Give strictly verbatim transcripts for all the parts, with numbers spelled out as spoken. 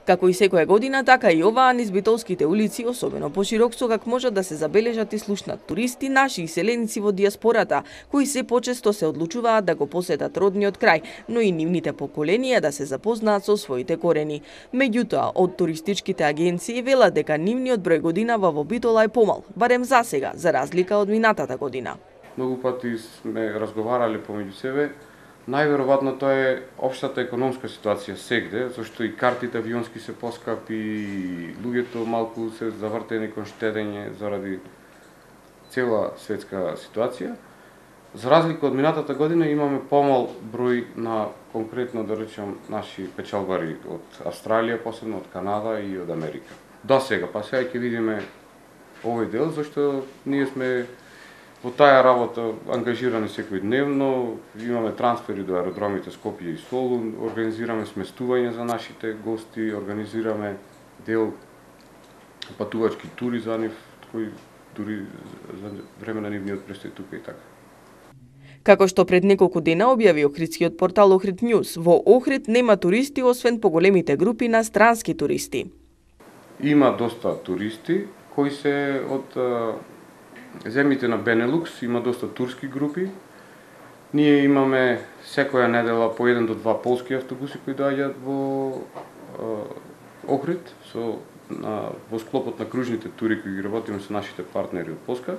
Како и секоја година, така и оваа низ битолските улици, особено поширок сокак, можат да се забележат и слушнат туристи, наши и селеници во дијаспората, кои се почесто се одлучуваат да го посетат родниот крај, но и нивните поколенија да се запознаат со своите корени. Меѓутоа, од туристичките агенции велат дека нивниот број годинава во Битола е помал, барем за сега, за разлика од минатата година. Многу пати сме разговарале помеѓу себе. Најверојатно тоа е општата економска ситуација сегде, зашто и картите авионски се поскапи, и луѓето малку се завртени кон штедење заради цела светска ситуација. За разлика од минатата година имаме помал број на конкретно, да речем, наши печалбари од Австралија, посебно од Канада и од Америка. До сега, па сега ќе видиме овој дел, зашто ние сме во таа работа ангажирани секојдневно, имаме трансфери до аеродромите Скопје и Солун, организираме сместување за нашите гости, организираме дел патувачки тури за нив, кои дури за време на нивниот престој тука и така. Како што пред неколку дена објави охридскиот портал Охрид News, во Охрид нема туристи освен поголемите групи на странски туристи. Има доста туристи кои се од земјите на Бенелукс, има доста турски групи. Ние имаме секоја недела по еден до два полски автобуси кои доаѓаат во Охрид со на, во склопот на кружните тури кои ги работиме со нашите партнери од Полска.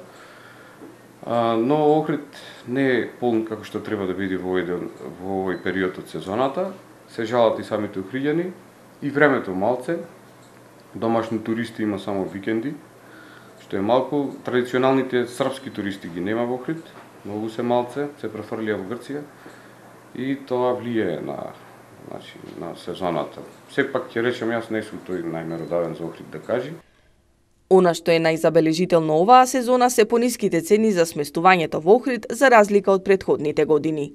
А, но Охрид не е полн како што треба да биде во овој, во овој период од сезоната. Се жалат и самите охриѓани и времето малце. Домашни туристи има само викенди, што е малку. Традиционалните српски туристи ги нема во Охрид, многу се малце, се префрлија во Грција и тоа влијае на, значи, на сезоната. Сепак ќе речем, јас не сум тој најмеродавен за Охрид да кажи. Она што е најзабележително оваа сезона се пониските цени за сместувањето во Охрид за разлика од претходните години.